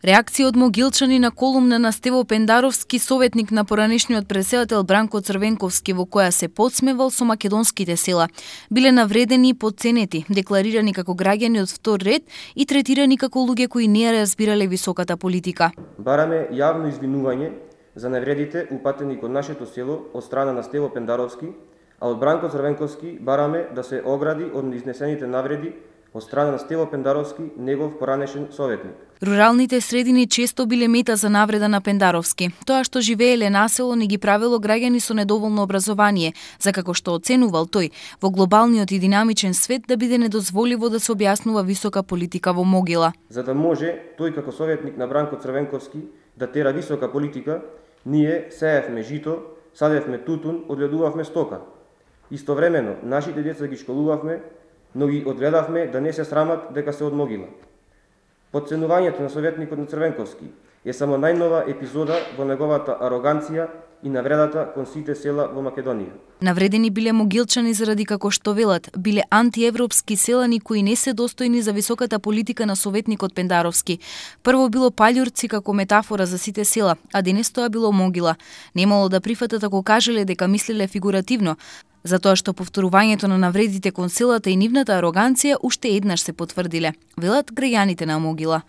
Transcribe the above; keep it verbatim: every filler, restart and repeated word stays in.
Реакција од Могилчани на колумна на Стево Пендаровски, советник на поранешниот претседател Бранко Црвенковски, во која се подсмевал со македонските села. Биле навредени и подценети, декларирани како граѓани од втор ред и третирани како луѓе кои не ја разбирале високата политика. Бараме јавно извинување за навредите упатени кон нашето село од страна на Стево Пендаровски, а од Бранко Црвенковски бараме да се огради од изнесените навреди од страна на Стево Пендаровски, негов поранешен советник. Руралните средини често биле мета за навреда на Пендаровски. Тоа што живееле на село не ги правело граѓани со недоволно образование, за како што оценувал тој, во глобалниот и динамичен свет да биде недозволиво да се објаснува висока политика во Могила. За да може тој како советник на Бранко Црвенковски да тера висока политика, ние сеевме жито, садевме тутун, одгледувавме стока. Истовремено, нашите деца ги школувавме, но ги одгледавме да не се срамат дека се од Могила. Подценувањето на советникот на Црвенковски е само најнова епизода во неговата ароганција и навредата кон сите села во Македонија. Навредени биле Могилчани заради, како што велат, биле антиевропски селани кои не се достојни за високата политика на советникот Пендаровски. Прво било Паљурци како метафора за сите села, а денес тоа било Могила. Немало да прифатат ако кажеле дека мислеле фигуративно, затоа што повторувањето на навредите кон селата и нивната ароганција уште еднаш се потврдиле, велат граѓаните на Могила.